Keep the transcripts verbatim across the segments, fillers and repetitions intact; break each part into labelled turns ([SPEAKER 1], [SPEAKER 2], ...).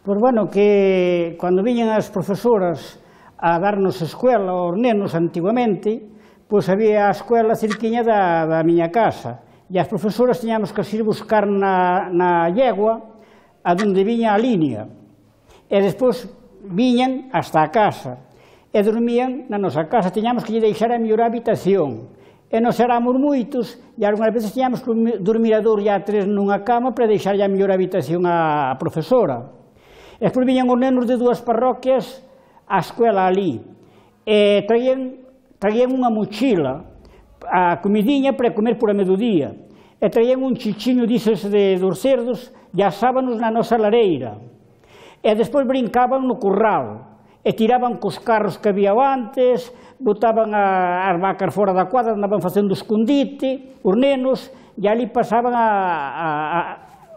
[SPEAKER 1] Pois, bueno, que cando viñan as profesoras a darnos escuela aos nenos antiguamente, pois había a escuela cerquiña da, da miña casa, e as profesoras tiñamos que ir buscar na, na yegua a donde viña a línea, e despois viñan hasta a casa, e dormían na nosa casa, tiñamos que lle deixar a mellor habitación, e nos éramos moitos, e algunhas veces tiñamos que dormir a dous e a tres nunha cama para deixar a mellor habitación á profesora. E despois viñan os nenos de dúas parroquias á escuela ali, e traían, traían unha mochila, a comidiña para comer por a mediodía, e traían un chichiño dices de, dos cerdos e asábanos na nosa lareira, e despois brincaban no curral, e tiraban cos carros que había antes, botaban a, as vacas fora da cuadra, andaban facendo escondite, os nenos, e ali pasaban a, a, a,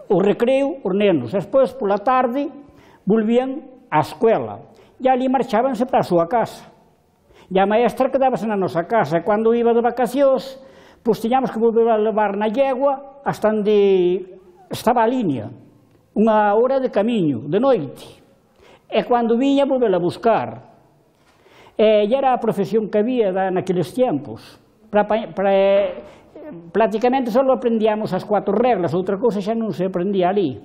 [SPEAKER 1] o recreo, os nenos, e despois, pola tarde, volvían á escuela, e ali marchábanse para a súa casa. E a maestra quedábase na nosa casa, e cando iba de vacacións, pois tiñamos que volver a levar na yegua hasta onde estaba a línea, unha hora de camiño, de noite. E cando viña, volvela a buscar. E era a profesión que había naqueles tempos. Para, para, prácticamente só aprendíamos as cuatro reglas, outra cousa xa non se aprendía ali.